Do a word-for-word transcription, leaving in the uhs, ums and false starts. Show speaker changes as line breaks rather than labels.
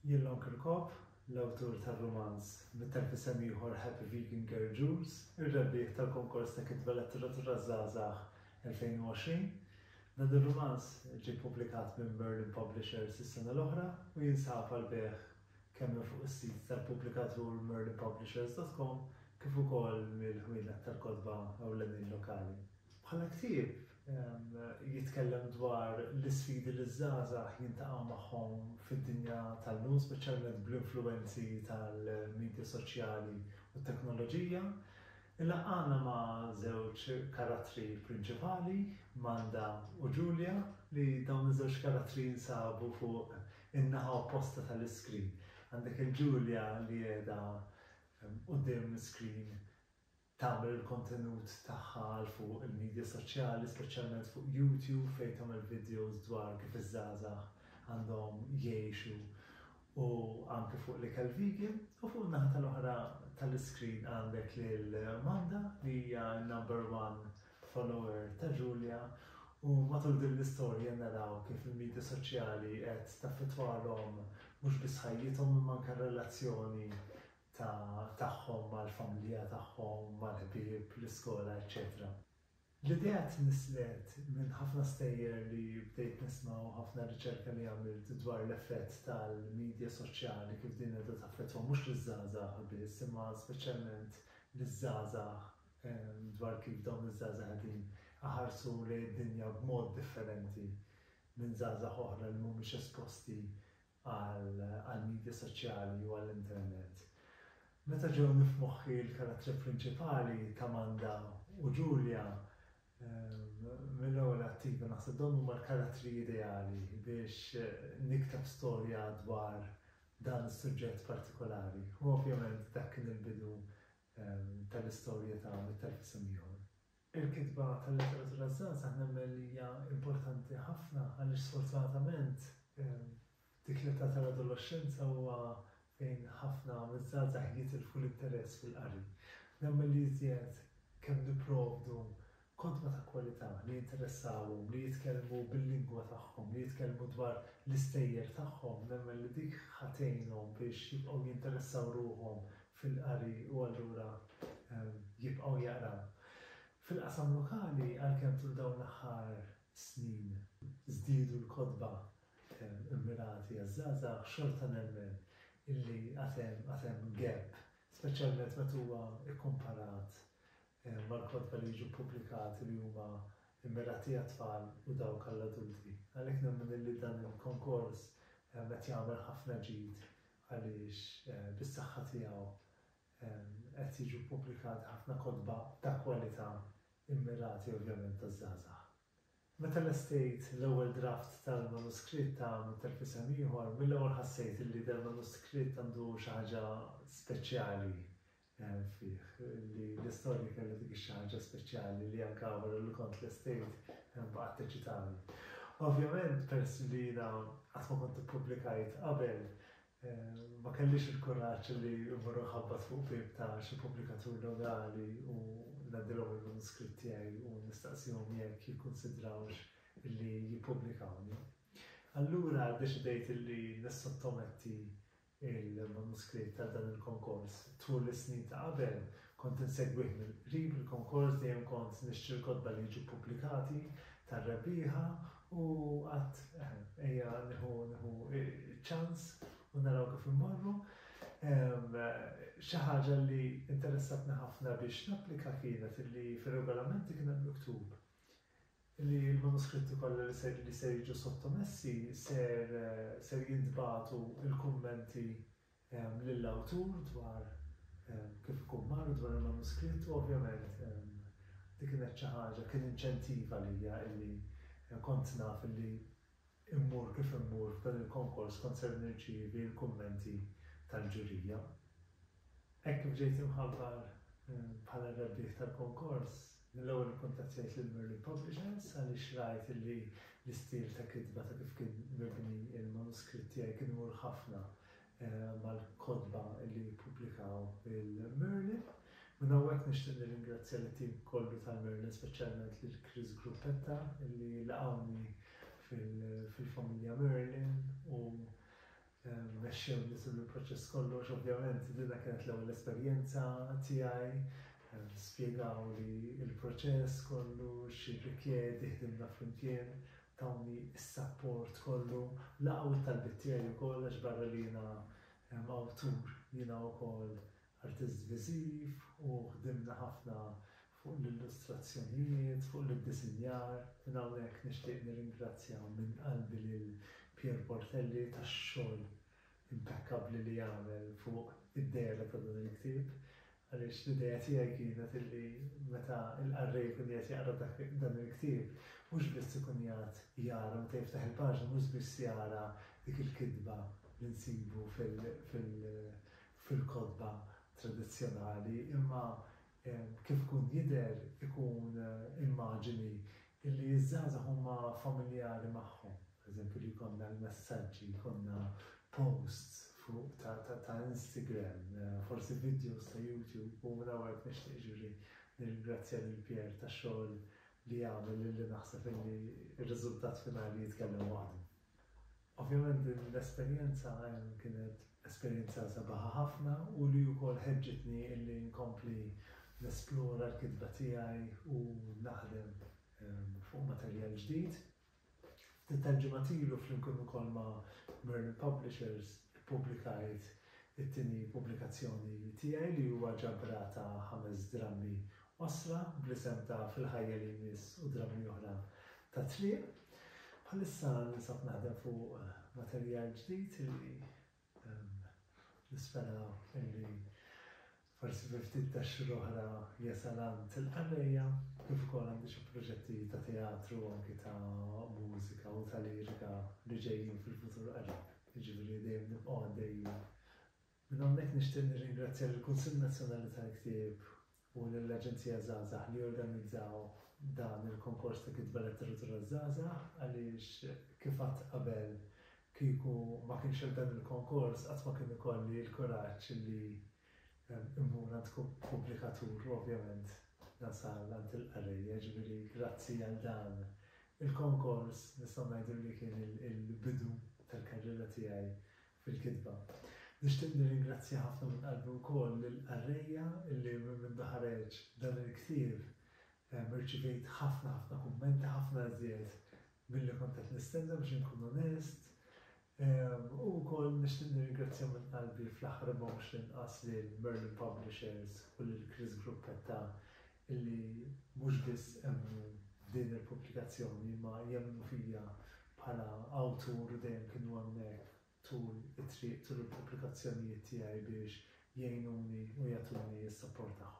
Jien Lon Kirkop, l-awtur tar-rumanz Mitt Elf Isem Ieħor Happy Vegan Girl Jules, ir-rebbieħ tal-konkors ta' kitba letteratura żgħażagħ elfejn u għoxrin. Dan ir-rumanz ġie ppubblikat minn Merlin Publishers is-sena l-oħra u jinsab għall-bejgħ kemm minn fuq is-sit tal-pubblikatur merlin publishers dot com kif ukoll mill-ħwienet tal-kotba ewlenin lokali. Bħala ktieb jitkellem dwar l-isfidi li ż-żgħażagħ jintaqgħu magħhom fid-dinja tal-lum, speċjalment bl-influwenzi tal-medja soċjali u t-teknoloġija. Ilaqqana ma' żewġ karattri prinċipali, Manda u Julia, li dawn iż-żewġ karattri jinsabu fuq in-naħa opposta tal-iskrin. Għandek il-Julia li qiegħda quddiem screen tagħmel il-kontenut tagħha għal fuq il-medja soċjali, speċjalment fuq YouTube fejn tagħmel videos dwar kif iż-żgħażagħ għandhom jgħixu u anke fuq l-ikel vegan, u fuq naħa tal-oħra tal-iskrin għandek lil Manda li hija number one follower ta' Julia, u matul din l-istorja naraw kif il-medja soċjali qed taffettwalhom mhux biss ħajjithom imma anke r-relazzjoni tagħhom mal-familja tagħhom, mal-ħbieb, l-iskola, eċċetera. L-idea tnisslet minn ħafna stejjer li bdejt nisma' u ħafna riċerka li għamilt dwar l-effett tal-medja soċjali kif din qiegħda taffettwa mhux liż-żgħażagħ biss imma speċjalment liż-żgħażagħ dwar kif dawn iż-żgħażagħ qegħdin aħarsu lejn id-dinja b'mod differenti minn żgħażagħ oħra li mhumiex esposti għall-medja soċjali u għall-internet. Meta ġewni f'moħħi l-karattri prinċipali ta' Manda u Julia, mill-ewwel attiva naħseb dawn huma l-karattri ideali biex nikteb storja dwar dan is-suġġett partikolari. U ovvjament dak kien il-bidu tal-istorja ta' Mitt Elf Isem Ieħor. Il-kitba tal-letteratura żgħażagħ nemmen li hija importanti ħafna għaliex sfortunatament dik l-età tal-adolescenza huwa fejn ħafna miż-żgħażagħ jitilfu l-interess fil-qari. Nemmen li iżjed kemm nipprovdu kotba ta' kwalità li jinteressawhom, li jitkellmu bil-lingwa tagħhom, li jitkellmu dwar l-istejjer tagħhom, nemmen li dik ħatejnhom biex jibqgħu jinteressaw ruħhom fil-qari u allura jibqgħu jaqraw. Fil-qasam lokali, għalkemm tul dawn l-aħħar snin żdiedu l-kotba immirati għaż-żgħażagħ, xorta nemmen illi għad hemm gap, speċjalment meta huwa ikkomparat mal-kotba li jiġu ppubblikati li huma immirati għat-tfal u dawk għall-adulti. Għalhekk nemmen illi dan il-konkors qed jagħmel ħafna ġid għaliex bis-saħħa tiegħu qed jiġu ppubblikati ħafna kotba ta' kwalità immirati ovvjament taż-żgħażagħ. Meta lestejt l-ewwel draft tal-manuskritt ta' Mitt Elf Isem Ieħor, mill-ewwel ħassejt illi dal-manuskritt għandu xi ħaġa speċjali fih, li l-istorja kellha dik xi ħaġa speċjali li anke wara li kont lestejt baqgħet teċitani. Ovvjament, peress li jiena qatt ma kont ippubblikajt qabel, ma kellix il-kuraġġ li mmur nħabbat fuq bieb ta' xi pubblikatur lokali u ngħaddilhom il-manuskritt tiegħi u nistaqsihom jekk jikkunsidrawx illi jippubblikawni. Allura ddeċidejt illi nissottometti il-manuskritt għal dan il-konkors. Tul is-snin ta' qabel kont insegwih mill-qrib il-konkors, dejjem kont nixtri l-kotba li jiġu ppubblikati tar-rebbieħa u qatt ejja nieħu nieħu ċans u naraw kif immorru. Xi ħaġa li interessatni ħafna biex napplika kienet illi fir-regolamenti kien hemm miktub li l-manuskritti kollha li ser li ser jiġu sottomessi ser ser jintbagħtu il-kummenti lill-awtur dwar kif ikun mar dwar il-manuskritt u ovvjament dik kienet xi ħaġa kien inċentiv għalija illi kont naf illi immur kif immur f'dan il-konkors kont ser nirċievi l-kummenti tal-ġurija. Hekk kif ġejt imħabbar bħala rebbieħ tal-konkors, mill-ewwel ikkuntattjajt lil Merlin Publishers għaliex rajt illi l-istil ta' kitba ta' kif kien mibni il-manuskritt tiegħi kien imur ħafna mal-kotba li ppubblikaw il-Merlin. Minn hawnhekk nixtieq nirringrazzja lit-tim kollu tal-Merlin, speċjalment lil Chris Gruppetta illi laqgħuni fil-familja Merlin u mexxewni tul il-proċess kollu, għax ovvjament dina kienet l-ewwel esperjenza tiegħi, spjegawli il-proċess kollu, x'jirrikjedi, ħdimna flimkien, tawni s-sapport kollu, laqgħu t-talbiet tiegħi wkoll għax barra li jiena awtur, jiena wkoll artist viżiv u ħdimna ħafna fuq l-illustrazzjonijiet, fuq l-iddisinjar. Minn hawnhekk nixtieq nirringrazzja minn qalbi lil Pier Portelli tax-xogħol impeccabbli li jagħmel fuq id-dehra ta' dan il-ktieb. Għaliex l-idea tiegħi kienet illi meta l-qarrej jkun qiegħed jaqra dan il-ktieb, mhux biss ikun qiegħed jara meta jiftaħ il-paġna, mhux biss jara dik il-kitba li nsibu fil-kotba tradizzjonali, imma kif ikun jidher ikun immaġini illi ż-żgħażagħ huma familjari magħhom. Per eżempju li jkollna l-messaġġi, jkollna posts fuq ta', ta, ta Instagram, forsi videos ta' YouTube, u minn hawnhekk nixtieq ġifieri nirringrazzja lil Pier tax-xogħol li għamel illi naħseb illi r-riżultat finali jitkellem waħdu. Ovvjament din l-esperjenza kienet esperjenza sabiħa ħafna u li wkoll ħeġġitni illi nkompli nesplora l-kitba tiegħi u naħdem fuq materjal ġdid. Ftit tal-ġimgħat ilu flimkien ukoll ma' Merlin Publishers ippubblikajt it-tieni pubblikazzjoni tiegħi li huwa ġabra ta' ħames drammi qosra bl-isem ta' Fil-ħajja li jmiss u drammi oħra ta' triq. Bħalissa ninsab naħdem fuq materjal ġdid li nispera illi forsi fi ftit ta' xhur oħra jasal għand il-qarrejja, kif ukoll għandi xi proġetti ta' teatru anki ta' mużika u ta' lirika li ġejjin fil-futur qarib. Jiġifieri dejjem nibqgħu għaddejjin. Minn hawnhekk nixtieq nirringrazzja lill-Kunsill Nazzjonali tal-Ktieb u lill-Aġenzija Żgħażagħ li organizzaw dan il-konkors ta' kitba letteratura żgħażagħ għaliex kif għedt qabel kieku ma kienx hemm dan il-konkors qatt ma kien ikolli l-kuraġġ li immur għand pubblikatur u ovvjament nasal għand il-qarrejja, ġifieri grazzi għal dan il-konkors nistgħu ngħidu li kien il-bidu tal-karriera tiegħi fil-kitba. Nixtieq nirringrazzja ħafna minn qalbi wkoll lill-qarrejja illi minn ħareġ dan il-ktieb irċivejt ħafna ħafna kummenti, ħafna iżjed milli kont qed nistenna biex inkun onest. U wkoll nixtieq nirringrazzja minn qalbi fl-aħħar ma mhux l-inqas lil Merlin Publishers u lil Chris Gruppetta illi mhux biss emmnu f'din il-pubblikazzjoni ma jemmnu fija bħala awtur u dejjem kienu hemmhekk tul it-triq tul il-pubblikazzjonijiet tiegħi biex jgħinuni u jagħtuni s-sapport tagħhom.